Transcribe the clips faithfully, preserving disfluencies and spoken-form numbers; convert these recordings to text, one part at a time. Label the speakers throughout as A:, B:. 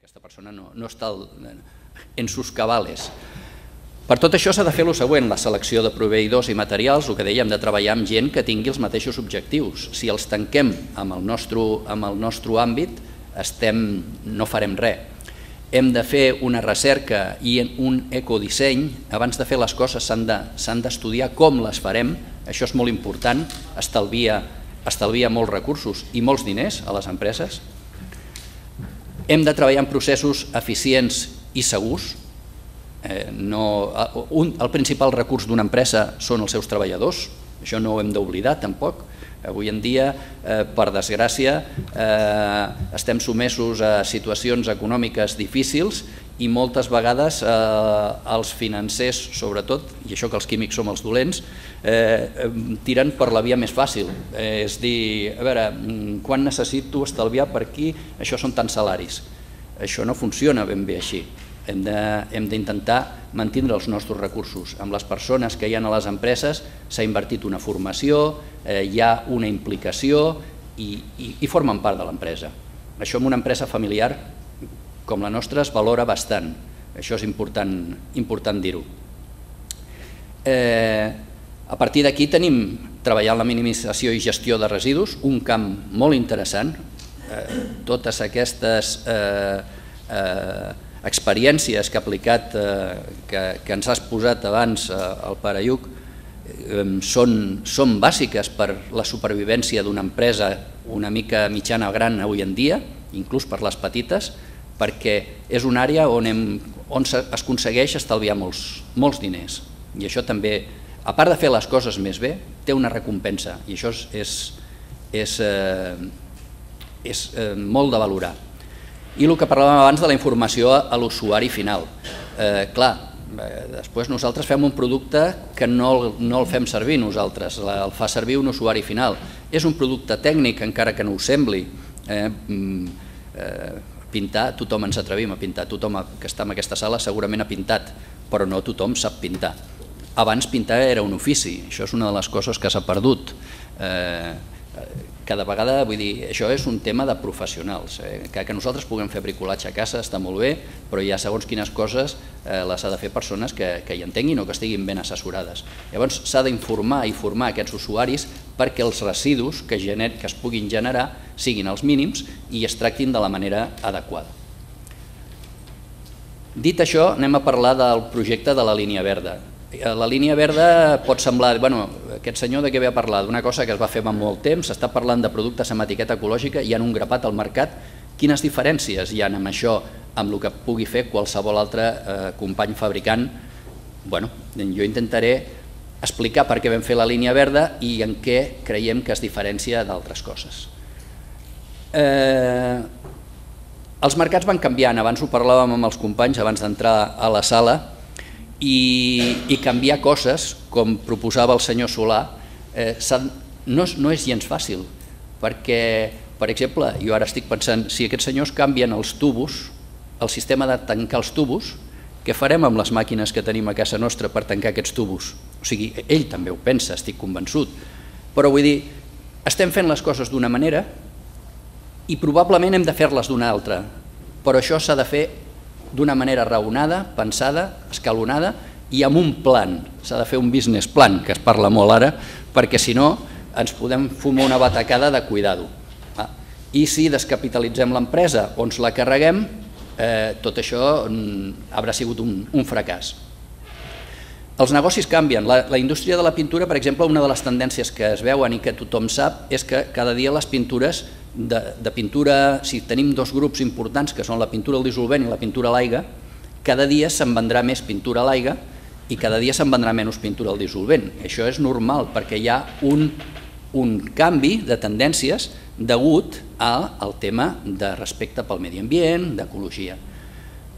A: aquesta persona no, no està en sus cabales. Per tot això s'ha de fer el següent, la selecció de proveïdors i materials, el que dèiem, de treballar amb gent que tingui els mateixos objectius. Si els tanquem amb el nostre, amb el nostre àmbit, estem, no farem res. Hem de fer una recerca i un ecodisseny. Abans de fer les coses s'han d'estudiar com les farem. Això és molt important, estalvia, estalvia molts recursos i molts diners a les empreses. Hem de treballar en processos eficients i segurs. Eh, no, un, el principal recurs d'una empresa són els seus treballadors, això no ho hem d'oblidar tampoc. Avui en dia, eh, per desgràcia, eh, estem sotmesos a situacions econòmiques difícils i moltes vegades eh, els financers, sobretot, i això que els químics som els dolents, eh, tiren per la via més fàcil. Eh, és dir, a veure, quan necessito estalviar per aquí, això són tants salaris. Això no funciona ben bé així. Hem d'intentar mantenir els nostres recursos. Amb les persones que hi ha a les empreses s'ha invertit una formació, eh, hi ha una implicació i, i, i formen part de l'empresa. Això en una empresa familiar com la nostra es valora bastant. Això és important, important dir-ho. Eh, a partir d'aquí tenim treballar en la minimització i gestió de residus, un camp molt interessant. Eh, totes aquestes eh, eh, experiències que ha aplicat, eh, que, que ens has posat abans eh, al Pare Lluc, eh, són, són bàsiques per la supervivència d'una empresa una mica mitjana o gran avui en dia, inclús per les petites, perquè és una àrea on, hem, on es aconsegueix estalviar molts, molts diners. I això també, a part de fer les coses més bé, té una recompensa i això és, és, és, eh, és eh, molt de valorar. I el que parlàvem abans de la informació a l'usuari final. Eh, clar, eh, després nosaltres fem un producte que no, no el fem servir nosaltres, el fa servir un usuari final. És un producte tècnic, encara que no ho sembli. Eh, eh, pintar, tothom ens atrevim a pintar, tothom que està en aquesta sala segurament ha pintat, però no tothom sap pintar. Abans pintar era un ofici, això és una de les coses que s'ha perdut. Eh, cada vegada, vull dir, això és un tema de professionals. Eh, que, que nosaltres puguem fer bricolatge a casa està molt bé, però hi ha segons quines coses eh, les ha de fer persones que, que hi entenguin o que estiguin ben assessorades. Llavors s'ha d'informar i formar aquests usuaris perquè els residus que, gener, que es puguin generar siguin els mínims i es tractin de la manera adequada. Dit això, anem a parlar del projecte de la línia verda. La línia verda pot semblar, bueno, aquest senyor de què ve a parlar? D'una cosa que es va fer fa molt temps, s'està parlant de productes amb etiqueta ecològica, hi ha un grapat al mercat. Quines diferències hi ha amb això, amb el que pugui fer qualsevol altre eh, company fabricant? Bueno, jo intentaré explicar per què vam fer la línia verda i en què creiem que es diferencia d'altres coses. Eh, els mercats van canviant, abans ho parlàvem amb els companys abans d'entrar a la sala, i, i canviar coses, com proposava el senyor Solà, eh, no, no és gens fàcil, perquè, per exemple, jo ara estic pensant, si aquests senyors canvien els tubos, el sistema de tancar els tubos, què farem amb les màquines que tenim a casa nostra per tancar aquests tubos? O sigui, ell també ho pensa, estic convençut, però vull dir, estem fent les coses d'una manera i probablement hem de fer-les d'una altra, però això s'ha de fer d'una manera raonada, pensada, escalonada i amb un plan. S'ha de fer un business plan, que es parla molt ara, perquè si no ens podem fumar una batacada de cuidado. I si descapitalitzem l'empresa o ens la carreguem, eh, tot això haurà sigut un, un fracàs. Els negocis canvien. La, la indústria de la pintura, per exemple, una de les tendències que es veuen i que tothom sap és que cada dia les pintures de, de pintura, si tenim dos grups importants que són la pintura al dissolvent i la pintura a l'aigua, cada dia se'n vendrà més pintura a l'aigua i cada dia se'n vendrà menys pintura al dissolvent. Això és normal perquè hi ha un, un canvi de tendències degut al tema de respecte pel medi ambient, d'ecologia.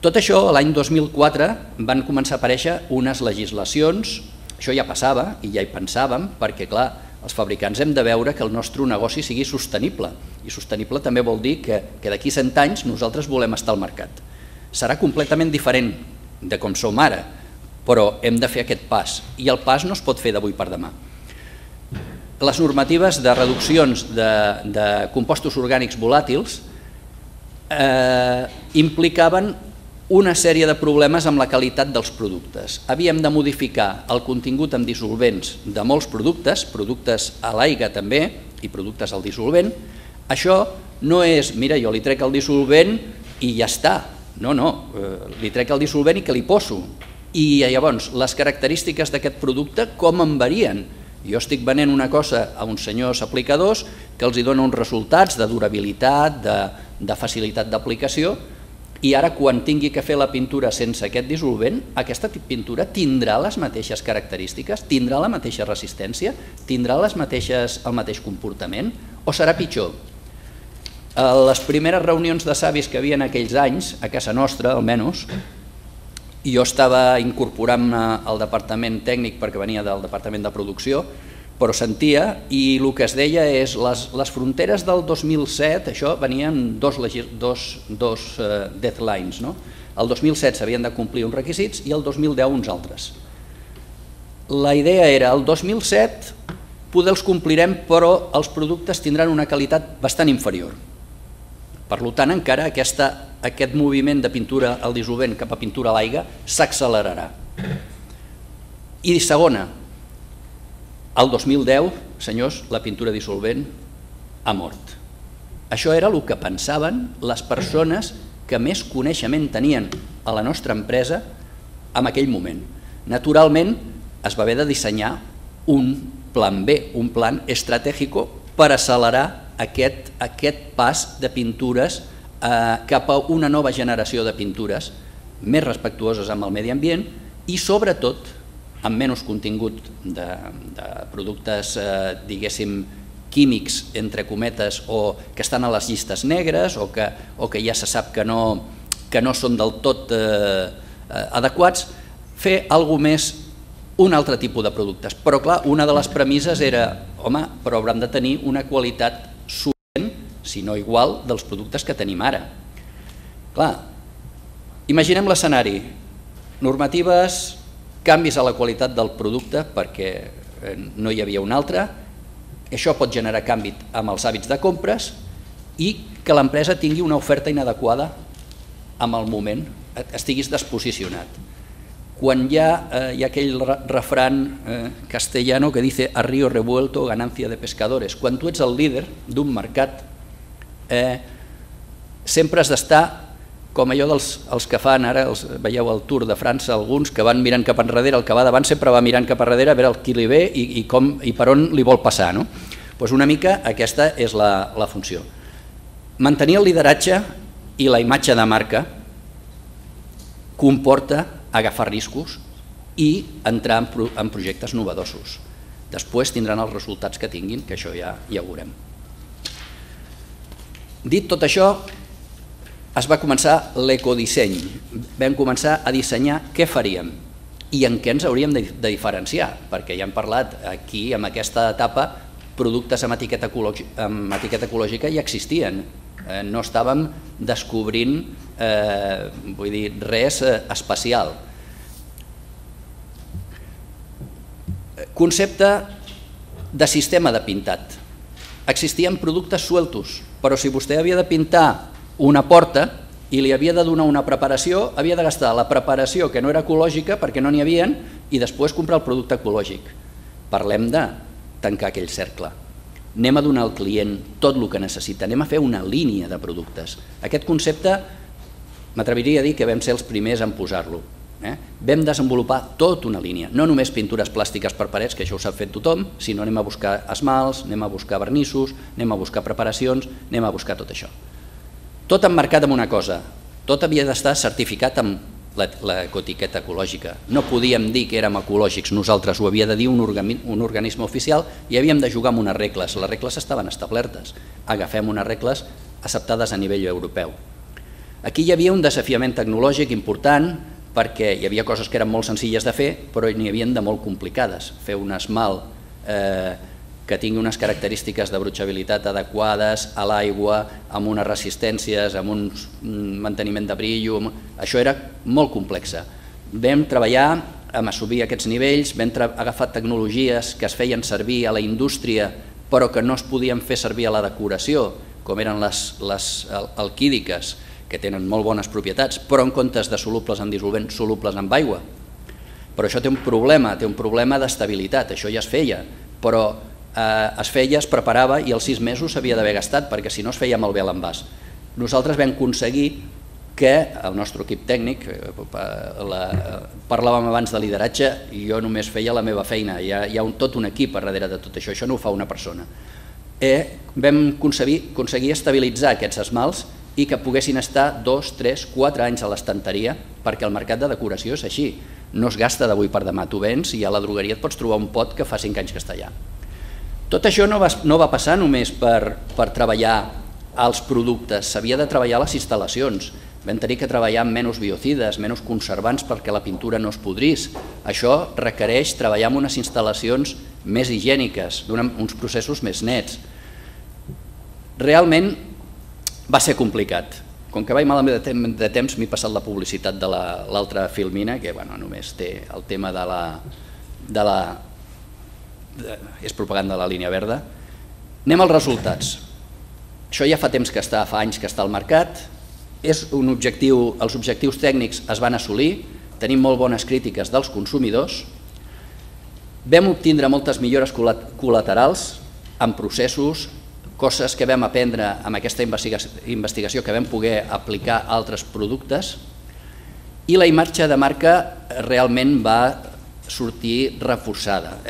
A: Tot això, l'any dos mil quatre, van començar a aparèixer unes legislacions, això ja passava i ja hi pensàvem, perquè clar, els fabricants hem de veure que el nostre negoci sigui sostenible, i sostenible també vol dir que, que d'aquí cent anys nosaltres volem estar al mercat. Serà completament diferent de com som ara, però hem de fer aquest pas, i el pas no es pot fer d'avui per demà. Les normatives de reduccions de, de compostos orgànics volàtils eh, implicaven una sèrie de problemes amb la qualitat dels productes. Havíem de modificar el contingut en dissolvents de molts productes, productes a l'aigua també i productes al dissolvent. Això no és, mira, jo li trec el dissolvent i ja està. No, no, li trec el dissolvent i que li poso. I llavors, les característiques d'aquest producte com en varien? Jo estic venent una cosa a uns senyors aplicadors que els dona uns resultats de durabilitat, de, de facilitat d'aplicació, i ara quan tingui que fer la pintura sense aquest dissolvent, aquesta pintura tindrà les mateixes característiques, tindrà la mateixa resistència, tindrà les mateixes, el mateix comportament, o serà pitjor? A les primeres reunions de savis que hi havia en aquells anys, a casa nostra almenys, jo estava incorporant-me al departament tècnic perquè venia del departament de producció, però sentia, i el que es deia és les, les fronteres del dos mil set, això venien dos, dos, dos uh, deadlines, no? El dos mil set s'havien de complir uns requisits i el dos mil deu uns altres. La idea era, el dos mil set poder els complirem, però els productes tindran una qualitat bastant inferior. Per tant, encara aquesta, aquest moviment de pintura al dissolvent cap a pintura a l'aigua s'accelerarà. I segona, el dos mil deu, senyors, la pintura dissolvent ha mort. Això era el que pensaven les persones que més coneixement tenien a la nostra empresa en aquell moment. Naturalment, es va haver de dissenyar un plan B, un plan estratègic per accelerar aquest, aquest pas de pintures eh, cap a una nova generació de pintures més respectuoses amb el medi ambient i, sobretot, amb menys contingut de, de productes, eh, diguéssim, químics, entre cometes, o que estan a les llistes negres o que, o que ja se sap que no, que no són del tot eh, adequats, fer alguna més, un altre tipus de productes. Però, clar, una de les premisses era, home, però hauran de tenir una qualitat solvent, si no igual, dels productes que tenim ara. Clar, imaginem l'escenari, normatives, canvis a la qualitat del producte perquè no hi havia un altre, això pot generar canvi amb els hàbits de compres i que l'empresa tingui una oferta inadequada amb el moment, estiguis desposicionat. Quan hi ha, eh, hi ha aquell refran eh, castellano que dice a río revuelto ganancia de pescadores, quan tu ets el líder d'un mercat eh, sempre has d'estar com allò dels els que fan ara, els, veieu el Tour de França, alguns que van mirant cap enrere, el que va davant sempre va mirant cap enrere a veure el qui li ve i, i, com, i per on li vol passar. No? Pues una mica aquesta és la, la funció. Mantenir el lideratge i la imatge de marca comporta agafar riscos i entrar en, pro, en projectes novedosos. Després tindran els resultats que tinguin, que això ja, ja ho veurem. Dit tot això, es va començar l'ecodisseny, vam començar a dissenyar què faríem i en què ens hauríem de diferenciar, perquè ja hem parlat aquí, en aquesta etapa, productes amb etiqueta ecològica, amb etiqueta ecològica ja existien, eh, no estàvem descobrint eh, vull dir, res eh, especial. Concepte de sistema de pintat. Existien productes sueltos, però si vostè havia de pintar una porta i li havia de donar una preparació, havia de gastar la preparació que no era ecològica perquè no n'hi havien i després comprar el producte ecològic. Parlem de tancar aquell cercle. Anem a donar al client tot el que necessita, anem a fer una línia de productes. Aquest concepte m'atreviria a dir que vam ser els primers en posar-lo. Eh? Vam desenvolupar tota una línia, no només pintures plàstiques per parets, que això ho sap fer tothom, sinó anem a buscar esmalts, anem a buscar vernissos, anem a buscar preparacions, anem a buscar tot això. Tot emmarcat en una cosa, tot havia d'estar certificat amb l'ecoetiqueta ecològica. No podíem dir que érem ecològics, nosaltres ho havia de dir un, organi un organisme oficial i havíem de jugar amb unes regles. Les regles estaven establertes. Agafem unes regles acceptades a nivell europeu. Aquí hi havia un desafiament tecnològic important perquè hi havia coses que eren molt senzilles de fer, però n'hi havia de molt complicades. Fer un esmalt eh, que tingui unes característiques de brutxabilitat adequades a l'aigua, amb unes resistències, amb un manteniment de brillo, això era molt complex. Vam treballar amb assolir aquests nivells, vam agafar tecnologies que es feien servir a la indústria però que no es podien fer servir a la decoració, com eren les, les alquídiques, que tenen molt bones propietats, però en comptes de solubles en dissolvent, solubles en aigua. Però això té un problema, té un problema d'estabilitat, això ja es feia, però es feia, es preparava i als sis mesos s'havia d'haver gastat, perquè si no es feia malbé l'envàs. Nosaltres vam aconseguir que el nostre equip tècnic, parlàvem abans de lideratge i jo només feia la meva feina, hi ha tot un equip a darrere de tot això, això no ho fa una persona. Vam aconseguir estabilitzar aquests esmalts i que poguessin estar dos, tres, quatre anys a l'estanteria, perquè el mercat de decoració és així, no es gasta d'avui per demà, tu vens i a la drogueria et pots trobar un pot que fa cinc anys que està allà. Tot això no va passar només per treballar els productes, s'havia de treballar les instal·lacions, vam tenir que treballar amb menys biocides, menys conservants perquè la pintura no es podrís. Això requereix treballar en unes instal·lacions més higièniques, uns processos més nets. Realment va ser complicat. Com que vaig malament de temps, m'he passat la publicitat de l'altra filmina, que només té el tema de la... és propaganda de la línia verda. Anem als resultats. Això ja fa temps que està, fa anys que està al mercat, és un objectiu, els objectius tècnics es van assolir, tenim molt bones crítiques dels consumidors, vam obtindre moltes millores col·laterals en processos, coses que vam aprendre amb aquesta investigació que vam poder aplicar a altres productes, i la imatge de marca realment va sortir reforçada.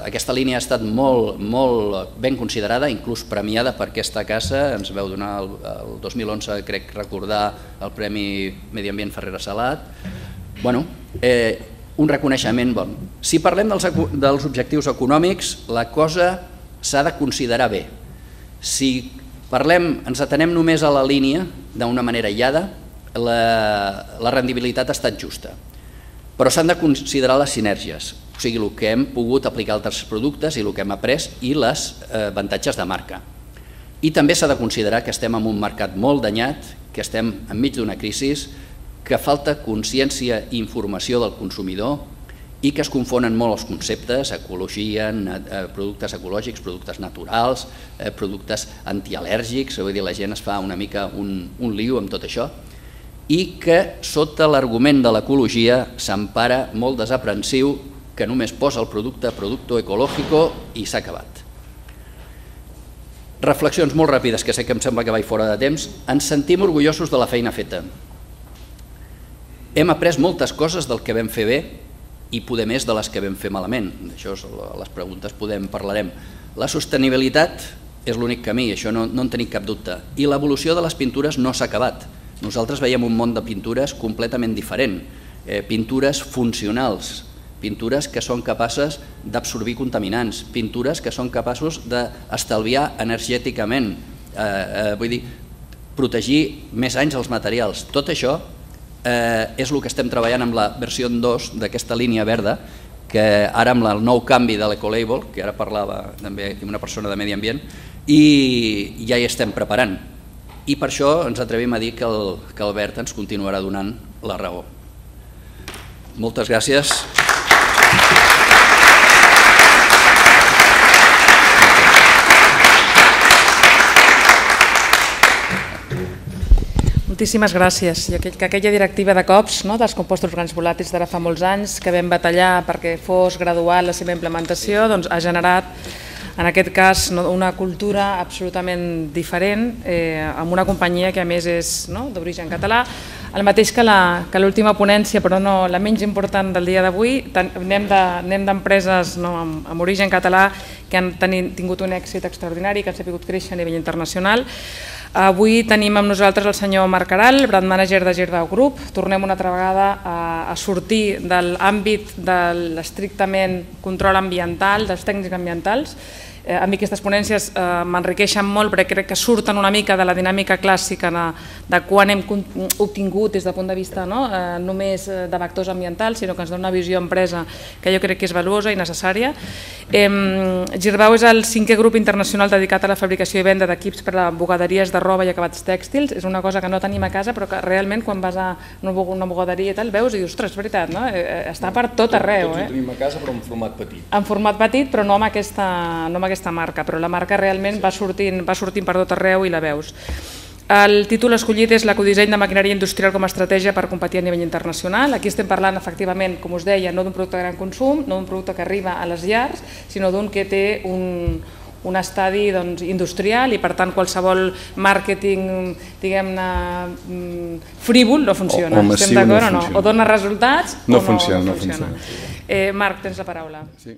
A: Aquesta línia ha estat molt ben considerada, inclús premiada per aquesta casa, ens vau donar el dos mil onze, crec recordar, el Premi Medi Ambient Ferrera Salat. Bueno, un reconeixement bon. Si parlem dels objectius econòmics, la cosa s'ha de considerar bé. Si parlem, ens atenem només a la línia, d'una manera aïllada, la rendibilitat ha estat justa. Però s'han de considerar les sinergies, o sigui, el que hem pogut aplicar a altres productes i el que hem après i els avantatges de marca. I també s'ha de considerar que estem en un mercat molt danyat, que estem enmig d'una crisi, que falta consciència i informació del consumidor i que es confonen molt els conceptes, ecologia, productes ecològics, productes naturals, productes antial·lèrgics, vull dir, la gent es fa una mica un lío amb tot això, i que sota l'argument de l'ecologia s'empara molt desaprensiu que només posa el producte producto ecológico i s'ha acabat. Reflexions molt ràpides, que sé que em sembla que vaig fora de temps. Ens sentim orgullosos de la feina feta. Hem après moltes coses del que vam fer bé i poder més de les que vam fer malament. D'això, les preguntes podem parlarem. La sostenibilitat és l'únic camí, això no en tenim cap dubte. I l'evolució de les pintures no s'ha acabat. Nosaltres veiem un món de pintures completament diferent, pintures funcionals, pintures que són capaces d'absorbir contaminants, pintures que són capaços d'estalviar energèticament, vull dir, protegir més anys els materials. Tot això és el que estem treballant amb la versió dos d'aquesta línia verda, que ara amb el nou canvi de l'Ecolabel, que ara parlava també una persona de Medi Ambient, i ja hi estem preparant. I per això ens atrevim a dir que el verd ens continuarà donant la raó. Moltes gràcies.
B: Moltíssimes gràcies. I que aquella directiva de cops dels compostos orgànics volàtils d'ara fa molts anys, que vam batallar perquè fos gradual la seva implementació, ha generat en aquest cas una cultura absolutament diferent amb una companyia que a més és d'origen català, el mateix que l'última ponència, però no la menys important del dia d'avui. Anem d'empreses amb origen català que han tingut un èxit extraordinari, que han sabut créixer a nivell internacional. Avui tenim amb nosaltres el senyor Marc Aral, brand manager de Girbau Group. Tornem una altra vegada a sortir de l'àmbit de l'estrictament control ambiental, dels tècnics ambientals. A mi aquestes ponències m'enriqueixen molt perquè crec que surten una mica de la dinàmica clàssica de quan hem obtingut des del punt de vista només de vectors ambientals, sinó que ens dona una visió empresa que jo crec que és valuosa i necessària. Girbau és el cinquè grup internacional dedicat a la fabricació i venda d'equips per a bugaderies de roba i acabats tèxtils. És una cosa que no tenim a casa, però que realment quan vas a una bugaderia i tal veus i dius, ostres, és veritat, està per tot arreu.
C: Tots ho tenim a casa, però en format petit.
B: En format petit, però no amb aquesta aquesta marca, però la marca realment va sortint per tot arreu i la veus. El títol escollit és l'ecodisseny de maquinària industrial com a estratègia per competir a nivell internacional. Aquí estem parlant, efectivament, com us deia, no d'un producte de gran consum, no d'un producte que arriba a les llars, sinó d'un que té un, un estadi doncs, industrial i, per tant, qualsevol màrqueting, diguem-ne, frívol no funciona.
D: O, o massiu no
B: funciona. O, no? O dona resultats
D: no
B: o no,
D: funciona,
B: no
D: funciona.
B: funciona. Eh, Marc, tens la paraula.
D: Sí.